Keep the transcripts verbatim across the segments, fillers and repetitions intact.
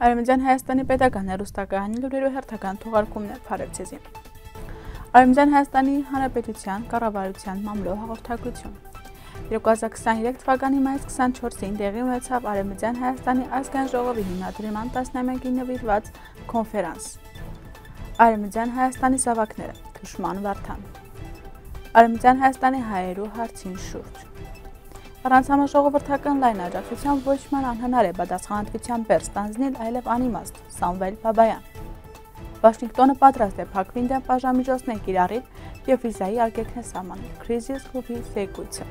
Արևմտյան Հայաստանի պետական հեռուստակայանի լուրերու հերթական թողարկումներ Փարեվցեզի։ Արևմտյան Հայաստանի Հանրապետության կառավարության մամլո հաղորդագրություն։ երկու հազար քսաներեք թվականի մայիսի քսանչորսին տեղի ունեցավ Արևմտյան Հայաստանի ազգային ժողովի հիմնադրման տասնամյակին նվիրված կոնֆերանս։ Արևմտյան Հայաստանի զավակները Թուշման Վարդան։ Արևմտյան Հայաստանի հայերու հարցին շուրջ։ Առանց համաժողովրդական լայն աջակցության ոչ ման անհնար է պատասխանատվության բեռ ստանձնել այլև անիմաստ Սամվել Բաբայան։ Վաշինգտոնը պատրաստ է փակվին դեմ բաժամիջոցներ կիրառել եւ վիզայի արգելքներ սահմանել Crisis Group-ի զեկույցը։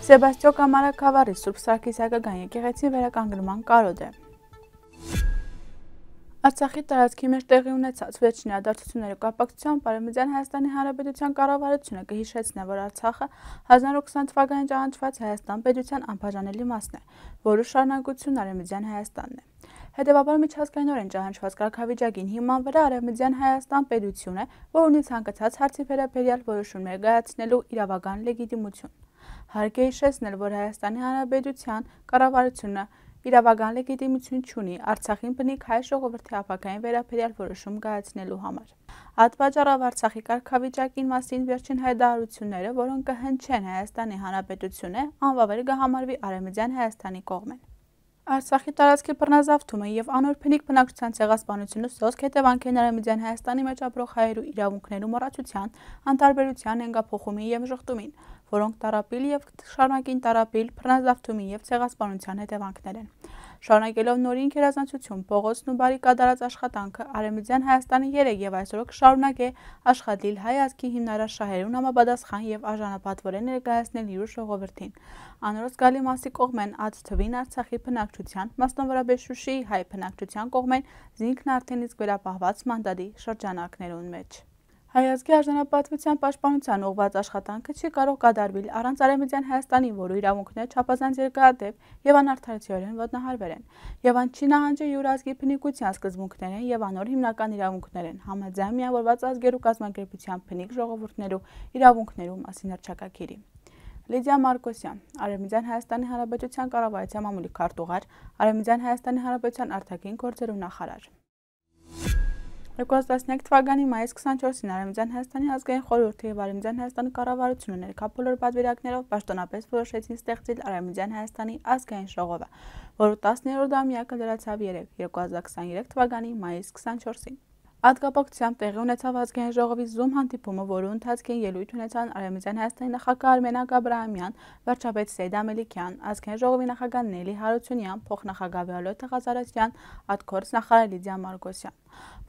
Սեբաստիո Կամարա Քավառի Սուրբ Սարգիսակական եկեղեցի վերականգնման կարոտ է։ Արցախի տարածքի մեջ տեղի ունեցած վերջին իրադարձությունների կապակցությամբ Արևմտյան Հայաստանի Հանրապետության կառավարությունը կհիշեցնի, որ Արցախը հազար նորը քսան թվականին ճանաչված Հայաստան պետության անբաժանելի մասն է, որը շարունակությունն Արևմտյան Հայաստանն է։ Հետևաբար միջազգայինորեն ճանաչված կարգավիճակին հիման վրա Արևմտյան Հայաստան պետություն է, որ ունի ցանկացած հարցի վերաբերյալ որոշումներ կայացնելու իրավական լեգիտիմություն։ Հարկ է հիշեցնել, որ Հայաստանի Հանրապետության կառավարությունը իրավական լեգիտիմություն չունի Արցախին բնիկ հայ ժողովրդի ապագային վերաբերյալ որոշում կայացնելու համար։ Այդ պատճառով Արցախի կարգավիճակին մասին վերջին հայտարարությունները, որոնք կհնչեն Հայաստանի Հանրապետությունը, անվավեր կհամարվի Արևմտյան Հայաստանի կողմեն։ Արցախի տարածքի բռնազավթումը եւ անոր փնիկ բնակչության ցեղասպանությունը սոսկ հետևանք են Արևմտյան Հայաստանի մեջ ապրող հայերու իրավունքներու մոռացության, անտարբերության հենգափոխումին եւ ժխտումին, որոնք տարապիլ եւ շարունակին տարապիլ բռնազավթումի եւ ցեղասպանության հետևանքներ են։ Շարունակելով նորին գերազանցություն, փողոցն ու բարի կատարած աշխատանքը Արևմտյան Հայաստանի երեք եւ այսօր կշարունակե աշխատել հայ ազգի հիմնարար շահերուն համապատասխան եւ արժանապատվորեն ներկայացնել իր ժողովրդին։ Անորոշ գալի մասի կողմեն ած թվին Արցախի բնակչության, մասնավորապես Շուշիի հայ բնակչության կողմեն զինքն արդեն իսկ վերապահված մանդատի շրջանակներուն մեջ։ Հայ ազգի արժանապատվության պաշտպանության ուղղված աշխատանքը չի կարող կատարվել առանց Արևմտյան Հայաստանի, որը իրավունքները չափազանց երկարատև եւ անարդարացիորեն ոտնահարվել են, եւ ան չի նահանջի յուր ազգի բնիկության սկզբունքներ են եւ անոր հիմնական իրավունքներ են, համաձայն միավորված ազգերու կազմակերպության բնիկ ժողովուրդներու իրավունքներու մասին հռչակագիրի։ Լիդիա Մարկոսյան, Արևմտյան Հայաստանի Հանրապետության կառավարության մամուլի քարտուղար, Արևմտյան Հայաստանի Հանրապետության արտաքին գործերու նախարար։ երկու հազար տասնյոթ թվականի մայիսի քսանչորսին Արևմտյան Հայաստանի ազգային խորհուրդը եւ Արևմտյան Հայաստանի կառավարությունը ներկա բոլոր պատվիրակներով պաշտոնապես որոշեցին ստեղծել Արևմտյան Հայաստանի ազգային ժողովը, որը տասներորդ ամյակը լրացավ երեկ, երկու հազար քսաներեք թվականի մայիսի քսանչորսին։ Այդ կապակցությամբ տեղի ունեցավ ազգային ժողովի Zoom հանդիպումը, որը ընթացքին ելույթ ունեցան Արևմտյան Հայաստանի նախագահ Արմենակ Աբրահամյան, վարչապետ Սեյդ Ամելիքյան, ազգային ժողովի նախագահ Նելի Հարությունյան, փոխնախագահ Վիոլետա Ղազարասյան, արտգործնախարար Լիդիա Մարկոսյան։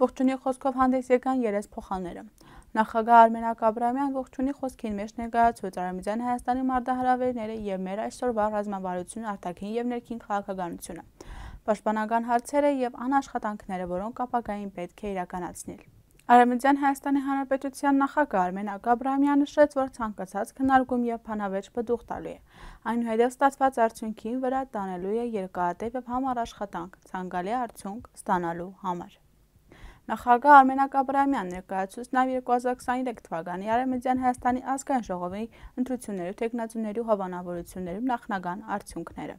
Ողջունի խոսքով հանդես եկան երես փոխանները։ Նախագահ Արմենակ Աբրահամյան ողջունի խոսքին մեջ ներկայացուց Արևմտյան Հայաստանի մարտահրավերները եւ մեր այսօրվա ռազմավարությունը, արտաքին եւ ներքին քաղաքականությունը, պաշտպանական հարցերը եւ անաշխատանքները, որոնք ապագային պետք է իրականացնել։ Արևմտյան Հայաստանի Հանրապետության նախագահ Արմենակ Աբրահամյանը նշեց, որ ցանկացած քննարկում եւ բանավեճ բդուղ տալու է, այնուհետեւ ստացված արդյունքին վրա տանելու է երկարատև եւ համառ աշխատանք, ցանկալի արդյունք ստանալու համար։ Նախագահ Արմենակ Աբրահամյանն ներկայացուց նաեւ երկու հազար քսաներեք թվականի Արևմտյան Հայաստանի ազգային ժողովի ընտրությունների տեխնացուների հավանավորությունների նախնական արդյունքները։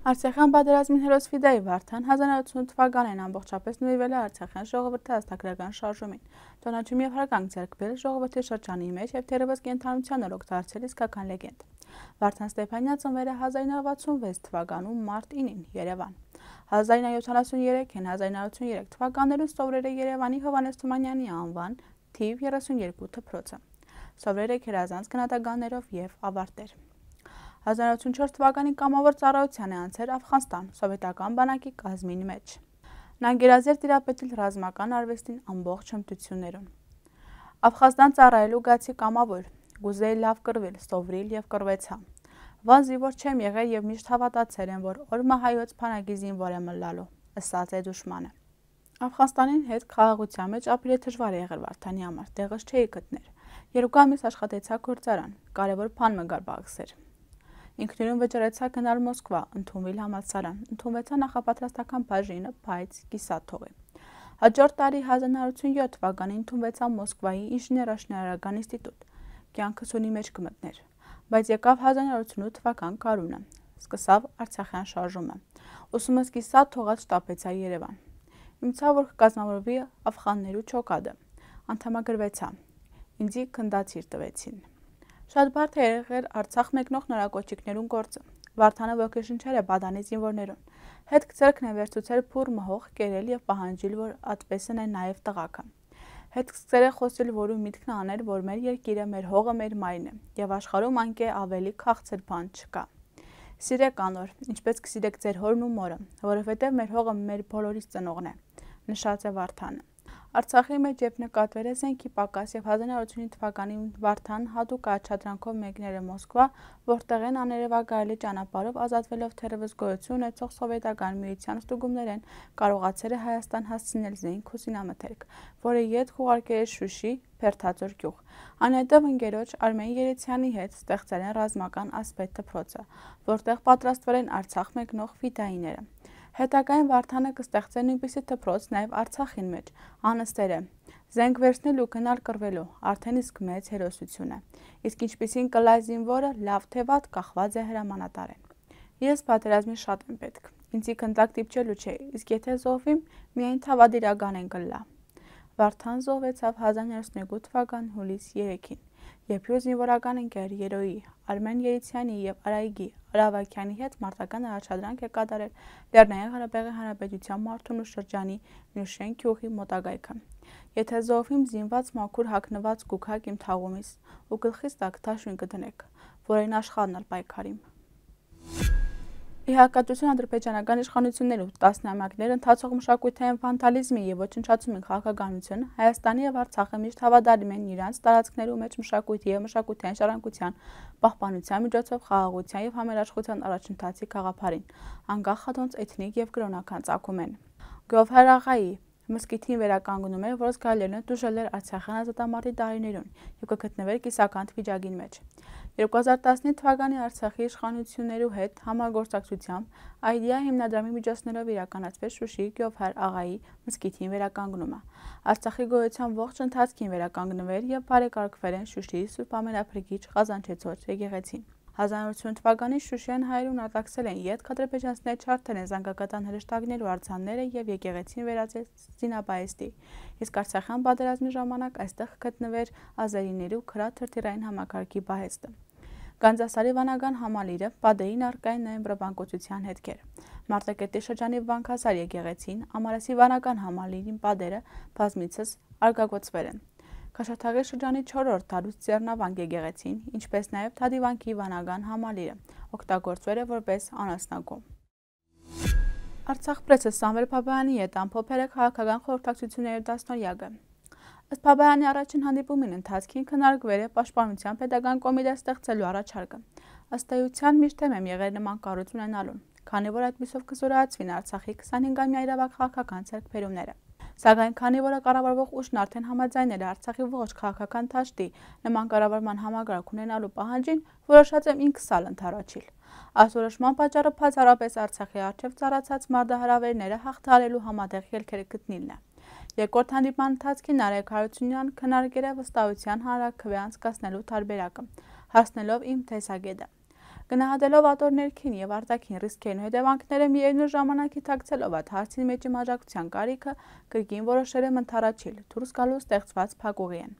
Արցախյան պատերազմին հերոս Ֆիդայի Վարդան հազար նորը ութսուն թվականին ամբողջապես նվիրվել է Արցախյան ժողովրդի հաստատագրական շարժումին, տոնաճում եւ հարգանք ձեռք բերել ժողովրդի շրջանի մեջ եւ թերևս կենթանության օրոք դարձել իսկական լեգենդ։ Վարդան Ստեփանյանը ծնվել է հազար նորը վաթսունվեց թվականում մարտ ինին Երևան։ հազար նորը յոթանասուներեքին հազար նորը ութսուներեք թվականներում սովորել է Երևանի Հովհաննես Թումանյանի անվան թիվ երեսունյոթ դպրոցը։ Սովորել է գերազանց գնահատականներով եւ ավարտել։ հազար նորը ութսունչորս թվականին կամավոր ծառայության է անցել Աֆղանստան սովետական բանակի կազմին մեջ։ Նա գերազերծ տիրապետել ռազմական արվեստին ամբողջ հմտություններում։ Աֆղանստան ծառայելու գացի կամավոր, գուզեի լավ կռվել, սովրիլ եւ կռվեցա։ Վան զինվոր չեմ եղել եւ միշտ հավատացել եմ, որ օրմա հայոց փանակի զինվոր եմ լալու, ըսած է դուշմանը։ Աֆղանստանին հետ խաղաղության մեջ ապրելը դժվար է եղել Վարդանի համար, տեղս չէի գտներ։ Երկու ամիս աշխատեցա գործարան, կարևոր բան մը գար բաղսեր։ Ինքնուրույն վճռեցա գնալ Մոսկվա, ընդունվել համալսարան, ընդունվեցա նախապատրաստական բաժինը, բայց կիսատ թողի։ Հաջորդ տարի հազար նորը ութսունյոթ թվականին ընդունվեցա Մոսկվայի ինժեներաշինարարական ինստիտուտ, կյանքս ունի մեջ կմտներ, բայց եկավ հազար նորը ութսունութ թվական կարունը։ սկսավ Արցախյան շարժումը։ Ուսումը սկսա թողած շտապեցա Երևան։ Իմցա, որ կկազմավորվի Աֆղաններու չոկադը։ Անդամագրվեցա։ Ինձի քնդացիր տվեցին։ Շատ բարդ է եղել Արցախ մեկնող նորակոչիկներուն գործը։ Վարդանը ոգեշնչել է բադանի զինվորներուն։ Հետ ձեռքն է վերցուցել փուռ մհող, կերել եւ պահանջիլ, որ ատպեսն է նաեւ տղաքը։ Հետ սկսել է խոսել, որու միտքն անել, որ մեր երկիրը, մեր հողը, մեր մայրն է, եւ աշխարհում անկե ավելի քաղցր բան չկա։ Սիրեք անոր, ինչպես կսիրեք ձեր հորն ու մորը, որովհետեւ մեր հողը մեր բոլորիս ծնողն է, նշած է Վարդանը։ Արցախի մեջ երբ նկատվել է զենքի պակաս եւ հազար նորը ութսունհինգ թվականին Վարդան հատուկ առաջադրանքով մեկնել է Մոսկվա, որտեղ են աներևակայելի ճանապարհով ազատվելով թերևս գոյություն ունեցող սովետական միության ստուգումներեն կարողացել է Հայաստան հասցնել զենք ու զինամթերք, որը ետ ուղարկել է Շուշի, Փերթաձոր գյուղ։ Անհետև ընկերոջ Արմեն Երեցյանի հետ ստեղծել են ռազմական ասպետ դպրոցը, որտեղ պատրաստվել են Արցախ մեկնող ֆիդայիները։ Հետագային Վարդանը կստեղծեն նույնպիսի դպրոց նաև Արցախին մեջ, անըստեր է, զենք վերցնել ու գնալ կռվելու, արդեն իսկ մեծ հերոսություն է, իսկ ինչպիսին կլա զինվորը, լավ թե վատ կախված է հրամանատարեն։ Ես պատերազմի շատ եմ պետք, ինձի քնդակ դիպչելու չէ, իսկ եթե զոհվիմ, միայն թավադիրական են կլա։ Վարդան զոհվեցավ հազար նորը ութսունհինգ թվական հուլիս երեքին, երբ իր զինվորական ընկեր Երոյի, Արմեն Երեցյանի եւ Արայգի Արավակյանի հետ մարտական առաջադրանք է կատարել Լեռնային Ղարաբաղի Հանրապետության Մարտունու շրջանի Նյուշեն գյուղի մոտակայքը։ Եթե զոհվիմ զինված մաքուր հագնված կուքակ իմ թաղումից ու գլխիս տակ թաշուն կդնեք, որին աշխարհն ալ պայքարիմ։ Ի հակադրություն ադրբեջանական իշխանություններու տասնամյակներ ընթացող մշակութային վանդալիզմի եւ ոչնչացումի քաղաքականություն Հայաստանի եւ Արցախը միշտ հավատարիմ են իրանց տարածքներու մեջ մշակույթի եւ մշակութային ժառանգության պահպանության միջոցով խաղաղության եւ համերաշխության առաջընթացի գաղափարին, անկախ հատոնց էթնիկ եւ կրոնական ծագումեն։ Գովհար աղայի մսկիթին վերականգնում էր, որ զգալիորեն դժուժել էր Արցախյան ազատամարտի տարիներուն եւ կգտնվեր կիսական վիճակին մեջ։ երկու հազար տասնինը թվականի Արցախի իշխանություններու հետ համագործակցությամբ Այդիա հիմնադրամի միջոցներով իրականացվեց Շուշիի Գովհար աղայի մսկիթին վերականգնումը։ Արցախի գոյության ողջ ընթացքին վերականգնվել եւ բարեկարգվել են Շուշիի Սուրբ Ամենափրկիչ Ղազանչեցոց եկեղեցին։ հազար նորը ութսուն թվականին Շուշիան հայերուն արտաքսել են ետք ադրբեջանցիները չարթել են զանգակատան հրեշտակներու արձանները եւ եկեղեցին վերածել զինաբայստի, իսկ Արցախյան պատերազմի ժամանակ այստեղ գտնվեր ազերիներու քրաթրթիրային համակարգի բահեստը։ Գանձասարի վանական համալիրը պատերին արկային նաեւ բրբանկոցության հետքեր։ Մարտակերտի շրջանի Վանքասար եկեղեցին, Ամարասի վանական համալիրին պատերը բազմիցս արգագործվել են։ Քաշաթաղի շրջանի չորրորդ դարուց Ձեռնավանք եկեղեցին, ինչպես նաև Թադիվանքի վանական համալիրը, օգտագործվել է որպես անասնագում։ Արցախ պրեսը Սամվել Բաբայանի հետ ամփոփել է քաղաքական խորհրդակցությունների դասնօրյակը։ Ըստ Բաբայանի առաջին հանդիպումին ընթացքին քննարկվել է պաշտպանության պետական կոմիտե ստեղծելու առաջարկը։ Ըստ էության միշտ եմ եղել նման կառույց ունենալուն, քանի որ այդպիսով կզորացվին Արցախի քսանհինգամյա իրավական քաղաքական ձեռքբերումները։ Սակայն քանի որ կառավարող ուժն արդեն համաձայնել է Արցախի ողջ քաղաքական դաշտի նման կառավարման համագարակ ունենալու պահանջին, որոշած եմ ինքս ալ ընդառաջիլ։ Ասորոշման պատճառը բացառապես Արցախի առջև ծառացած մարտահրավերները հաղթահարելու համատեղ ելքերը գտնելն է։ Երկրորդ հանդիպման ընթացքին Նարեկ Հարությունյանն քննարկել է վստահության հանրաքվե անցկացնելու տարբերակը, հասնելով իմ տեսակետը։ Գնահատելով ատոր ներքին եւ արտաքին ռիսկերն ու հետևանքները միևնույն ժամանակ թաքցելով այդ հարցի մեջ մաժակցության կարիքը, կրկին որոշել եմ ընդառաջիլ դուրս գալու ստեղծված փակուղիեն։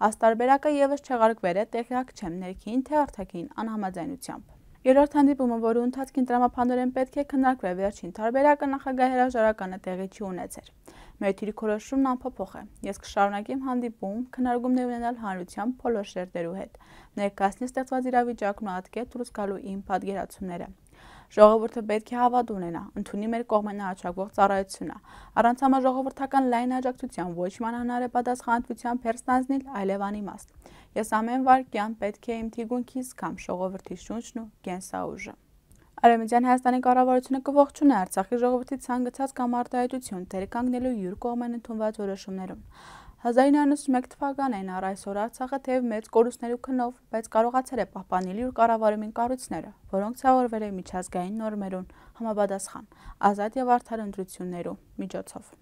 Աստարբերակը եւս չեղարկվել է տեղյակ չեմ ներքին թե արտաքին անհամաձայնությամբ։ Երրորդ հանդիպումը, որի ընթացքին տրամաբանորեն պետք է քննարկվի վերջին տարբերակը, նախագահի հրաժարականը տեղի չի ունեցել։ Մեր դիրքորոշումն անփոփոխ է։ Ես կշարունակեմ հանդիպում քննարկումներ ունենալ հանրության բոլոր շերտերու հետ, ներկայացնել ստեղծված իրավիճակն ու ատկել դուրս գալու իմ պատկերացումները։ Ժողովուրդը պետք է հավատ ունենա, ընդունի մեր կողմեն առաջարկվող ծառայությունը, առանց համաժողովրդական լայն աջակցության ոչ մանանար է պատասխանատվության փերստանձնել այլև անիմաստ։ Ես ամեն վարքյան պետք է իմ թիգունքիս կամ ժողովրդի շունչն ու կենսաուժը։ Արևմտյան Հայաստանի կառավարությունը կողջունի Արցախի ժողովրդի ցանկացած կամ արտահայտություն դեր կանգնելու յուր կողմեն ընդունված որոշումներում։ հազար իննսուն ութսունմեկ թվականին առ այսօր Արցախը թեև մեծ կորուստներու քնով, բայց կարողացել է պահպանել իր կառավարումին կառույցները, որոնք ցավալվել են միջազգային նորմերուն համապատասխան, ազատ եւ արդար ընտրություններու միջոցով։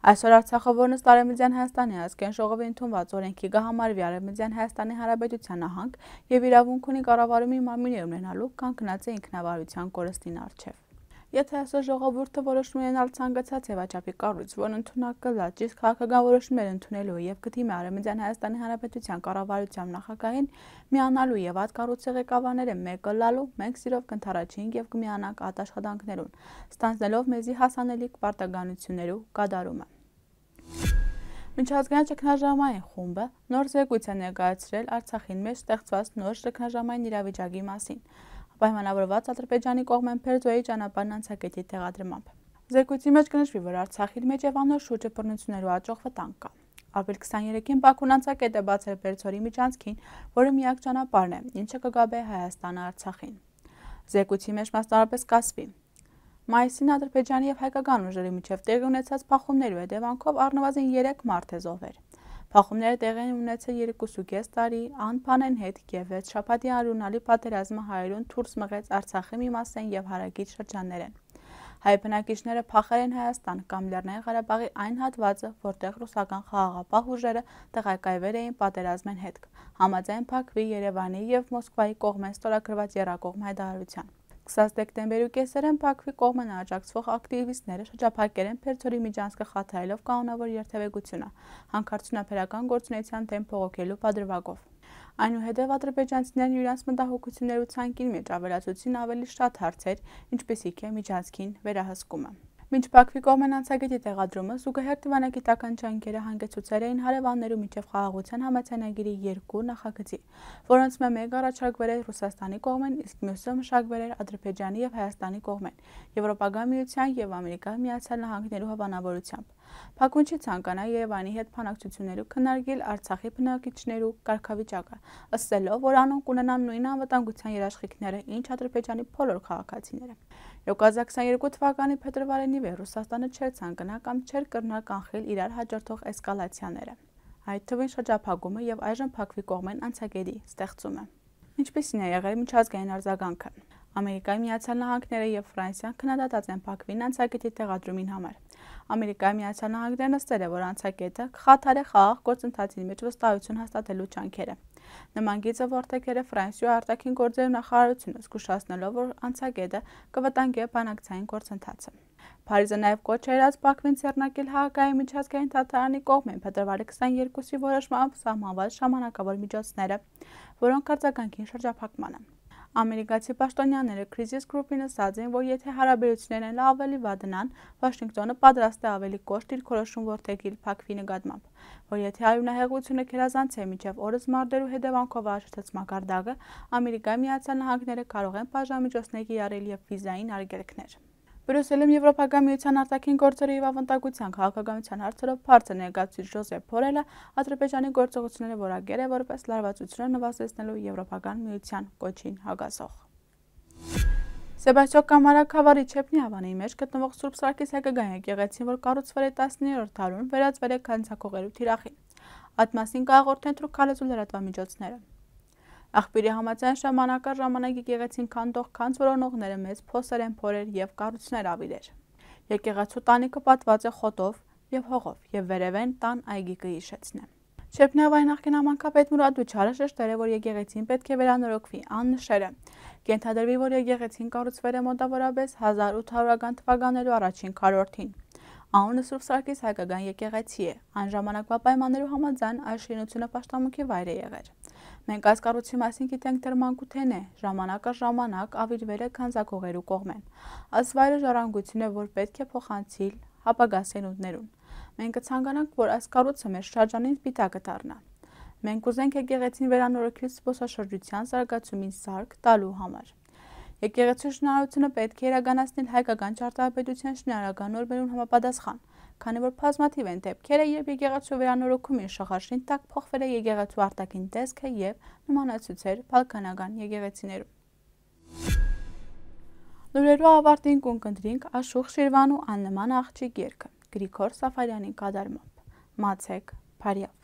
Այսօր Արցախը, որն ըստ Արևմտյան Հայաստանի ազգային ժողովի ընդունված օրենքի կհամարվի Արևմտյան Հայաստանի Հանրապետության նահանգ եւ իրավունք ունի կառավարումի մարմիններ ունենալու, կանգնած է ինքնավարության կորստին առջեւ։ Եթե այսօր ժողովուրդը որոշում է ունենալ ցանկացած ձևաչափի կառույց, որն ընդունակ կլա ճիշտ քաղաքական որոշումներ ընդունելու եւ կդիմի Արևմտյան Հայաստանի Հանրապետության կառավարության նախագահին միանալու եւ այդ կառույցի ղեկավարները մեկը լալու, մենք սիրով կընթառաջեինք եւ կմիանանք այդ աշխատանքներուն, ստանձնելով մեզի հասանելիք պարտականություններու կատարումը։ Միջազգային ճգնաժամային խումբը նոր զեկույց է ներկայացրել Արցախին մեջ ստեղծված նոր ճգնաժամային իրավիճակի մասին, պայմանավորված Ադրբեջանի կողմեն Փերձոյի ճանապարհն անցակետի տեղադրմամբ։ Զեկույցի մեջ կնշվի, որ Արցախի մեջ եւ անոր շուրջը բռնություններու աճող վտանգ կա։ Ապրիլ քսաներեքին Բաքուն անցակետ է բացել Փերձորի միջանցքին, որը միակ ճանապարհն է, ինչը կգաբե Հայաստանը Արցախին։ Զեկույցի մեջ մասնավորապես կասվի. Մայիսին Ադրբեջանի եւ հայկական ուժերի միջև տեղի ունեցած փախումներու հետևանքով առնվազն երեք մարդ է զոհվել։ Փախումները տեղի են ունեցել երկուսուկես տարի անփանեն հետ եւ վեց շաբաթի արյունալի պատերազմը հայերուն դուրս մղեց Արցախի մի մասեն եւ հարակից շրջաններեն։ Հայ բնակիչները փախել են Հայաստան կամ Լեռնային Ղարաբաղի այն հատվածը, որտեղ ռուսական խաղաղապահ ուժերը տեղակայվել էին պատերազմեն հետք, համաձայն Բաքվի, Երևանի եւ Մոսկվայի կողմեն ստորագրված եռակողմ հայտարարության։ քսան դեկտեմբերի կեսերեն Բաքվի կողմեն աջակցվող ակտիվիստները շրջափակել են Փերձորի միջանցքը խաթարելով կանոնավոր երթևեկությունը, հանքարդյունաբերական գործունեության դեմ փողոքելու պատրվակով։ Այնուհետև ադրբեջանցիներն իրենց մտահոգություններու ցանկին մեջ ավելացուցին ավելի շատ հարցեր, ինչպիսիք է միջանցքին վերահսկումը։ Մինչ Բաքվի կողմեն անցակետի տեղադրումը զուգահեռ դիվանագիտական ջանքերը հանգեցուցել էին հարևաններու միջև խաղաղության համաձայնագիրի երկու նախագծի, որոնց մեկը առաջարկվել էր Ռուսաստանի կողմեն, իսկ մյուսը մշակվել էր Ադրբեջանի եւ Հայաստանի կողմեն, Եվրոպական միության եւ Ամերիկայի Միացյալ Նահանգներու հավանավորությամբ։ Բաքուն չի ցանկանա Երևանի հետ բանակցություններու քննարկել Արցախի բնակիչներու կարգավիճակը, ըսելով, որ անոնք կունենան նույն անվտանգության երաշխիքները, ինչ Ադրբեջանի բոլոր քաղաքացիները։ երկու հազար քսաներկու թվականի փետրվարին ի վեր Ռուսաստանը չէր ցանկանա կամ չէր կրնալ կանխել իրար հաջորդող էսկալացիաները, այդ թվին շրջափակումը եւ այժմ Բաքվի կողմեն անցակետի ստեղծումը։ Ինչպիսին է եղել միջազգային արձագանքը։ Ամերիկայի Միացյալ Նահանգները եւ Ֆրանսիան քննադատած են Բաքվին անցակետի տեղադրումին համար։ Ամերիկայի Միացյալ Նահանգներն նստել է, որ անցակետը կխաթարի խաղաղ գործընթացի մեջ վստահություն հաստատելու ջանքերը։ Նման գիծը որդեգել է Ֆրանսիայի արտաքին գործերի նախարարությունը, զգուշացնելով, որ անցակետը կվտանգի բանակցային գործընթացը։ Փարիզը նաև կոչ է արած Բաքվին ձեռնարկել Հաագայի միջազգային դատարանի կողմեն փետրվարի քսաներկուսի որոշմամբ սահմանված ժամանակավոր միջոցները, որոնք արձագանքին շրջափակմանը։ Ամերիկացի պաշտոնյաները Crisis Group-ին ասաց են, որ եթե հարաբերություններն ավելի վատանան, Վաշինգտոնը պատրաստ է ավելի կոշտ դիրքորոշում որդեգել Բաքվի նկատմամբ, որ եթե արյունահեղությունը գերազանցի միջև օրս մարտերու հետևանքով աշխատած մակարդակը, Ամերիկայի Միացյալ Նահանգները կարող են բաժանմիջոցներ կիրառել եւ վիզային արգելքներ։ Բրյուսելում Եվրոպական միության արտաքին գործերի եւ ավանդական քաղաքականության հարցերով բարձր ներկայացուցիչ Ժոզեփ Բորելը Ադրբեջանի գործողությունները որակել է որպես լարվածությունը նվազեցնելու Եվրոպական միության կոչին հակասող։ Սեբաստիո Կամարաքավարի Չեպնիավանի մեջ գտնվող Սուրբ Սարգիս հայկական եկեղեցին, որ կառուցվել է տասներորդ դարում, վերածվել է քանցակողերու թիրախին։ Այդ մասին կհաղորդեն թուրքալեզու լրատվամիջոցները։ Աղբյուրի համաձայն ժամանակա ժամանակ եկեղեցին քանդող քանց որոնողները մեծ փոսեր են փորել եւ կառույցներ ավիրեր։ Եկեղեցու տանիքը պատված է խոտով եւ հողով եւ վերևեն տան այգի կհիշեցնե։ Չեպնիավայի նախկին համանքապետ Մուրադ Դուչարը շեշտել է, որ եկեղեցին պետք է վերանորոգվի, աննշերը։ Կենթադրվի, որ եկեղեցին կառուցվել է մոտավորապես հազար ութ հարյուրական թվականներու առաջին քառորդին։ Անունը Սուրբ Սարգիս հայկական եկեղեցի է, այն ժամանակվա պայմաններու համաձայն այս շինությունը պաշտամունքի վայր է եղել։ Մենք այս կառույցի մասին գիտենք դեռ մանկութեն է, ժամանակը ժամանակ ավիրվել է քանզակողերու կողմեն։ Այս վայրը ժառանգություն է, որ պետք է փոխանցիլ ապագա սերունդներուն։ Մենք կցանկանանք, որ այս կառույցը մեր շրջանին սպիտակը դառնա։ Մենք ուզենք եկեղեցին վերանորոգել զբոսաշրջության զարգացումին սարք տալու համար։ Եկեղեցու շինարարությունը պետք է իրականացնել հայկական ճարտարապետության շինարարական նորմերուն համապատասխան, քանի որ բազմաթիվ են դեպքերը, երբ եկեղեցու վերանորոգումի շղարշին տակ փոխվել է եկեղեցու արտաքին տեսքը եւ նմանացուցեր բալկանական եկեղեցիներում։ Լուրերու ավարտին կընտրենք Աշուխ Շիրվանու աննման աղջիկ երգը Գրիգոր Սաֆարյանի կատարմամբ։ Մացեք Փարիավ։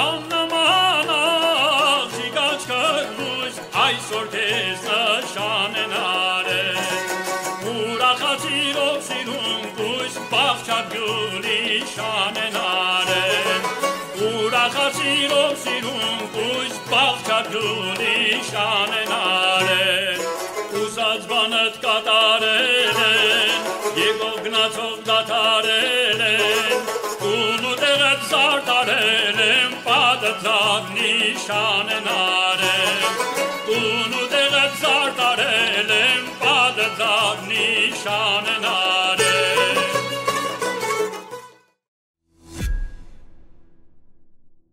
Աննման աղջիկ աչքերուս այսօր քեզ նշանենար է ուրախացիրով սիրուն գույս բաղչագյուլի շանենարեն ուրախացիրով սիրում կույս բաղչագյուլի շանենարեն Ուզած բանըտ կատարել են Եգով գնացով դատարել են Տունու տեղետ զարտարել են Պատը ձագնի շանենարեն Տունու տեղետ զարտարել են Պատը ձագնի շանենարեն